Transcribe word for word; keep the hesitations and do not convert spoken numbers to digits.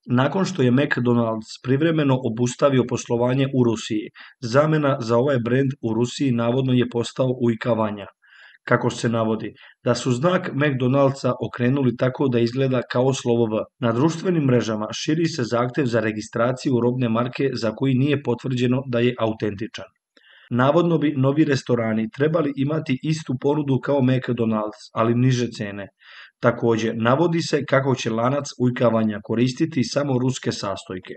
Nakon što je McDonald's privremeno obustavio poslovanje u Rusiji, zamjena za ovaj brend u Rusiji navodno je postao Ujka Vanja. Kako se navodi, da su znak McDonald'sa okrenuli tako da izgleda kao slovo V. Na društvenim mrežama širi se zahtjev za registraciju robne marke za koji nije potvrđeno da je autentičan. Navodno bi novi restorani trebali imati istu ponudu kao McDonald's, ali niže cene. Također, navodi se kako će lanac Ujka Vanja koristiti samo ruske sastojke.